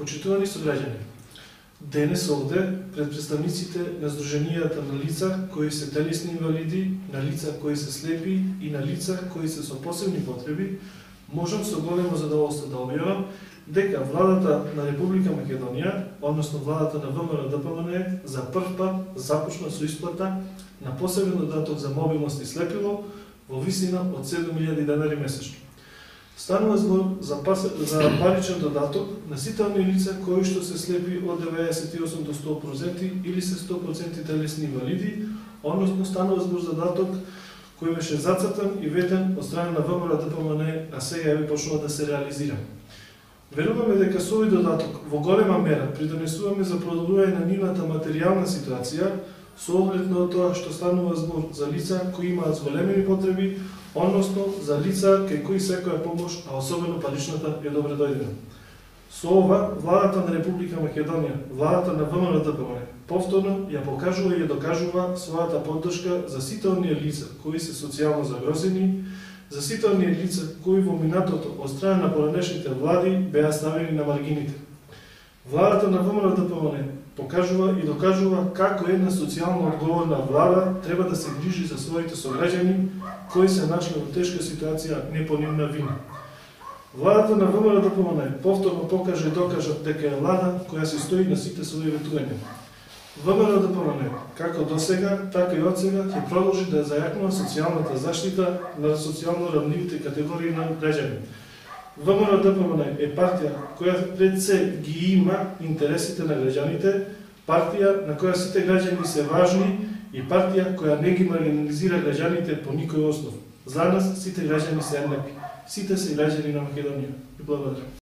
Почитувани сограѓани, денес овде пред представниците на Сдруженијата на лица кои се телесни инвалиди, на лица кои се слепи и на лица кои се со посебни потреби, можам со големо задоволство да објавам дека владата на Република Македонија, односно владата на ВМРО-ДПМН, за прв пат започна со исплата на посебен додаток за мобилност и слепило во висина од 7.000 денари месечно. Станува збор за паричен додаток на сите оние лица кои што се слепи од 98 до 100% или се 100% телесни инвалиди, односно станува збор за додаток кој беше зацртан и ветен од страна на ВМРО-ДПМН, а сега ја почнува да се реализира. Веруваме дека со овој додаток во голема мера придонесуваме за продолжување на нивната материјална ситуација со оглед на тоа што станува збор за лица кои имаат зголемени потреби, односно за лица кај кои секоја помош, а особено паричната, е добре дојдена. Со ова, владата на Република Македонија, владата на ВМРО-ДПМН, повторно ја покажува и ја докажува својата поддршка за сите оние лица кои се социјално загрозени, за сите оние лица кои во минатото од страна на поранешните влади беа ставени на маргините. Владата на ВМРО-ДПМН покажува и докажува како една социјално одговорна влада треба да се грижи за своите сограѓани кои се нашли во тешка ситуација не по нивна вина. Владата на ВМРО-ДПМН повторно покажа и докажа дека е влада која се стои на сите своји ветувања. ВМРО-ДПМН, како досега, така и одсега, ќе продолжи да зајакнува социјалната заштита на социјално рамливите категории на граѓани. ВМРО-ДПМН е партија која пред се ги има интересите на граѓаните, партија на која сите граѓани се важни и партија која не ги маргинализира граѓаните по никој основ. За нас сите граѓани се еднакви. Сите се граѓани на Македонија. И благодарам.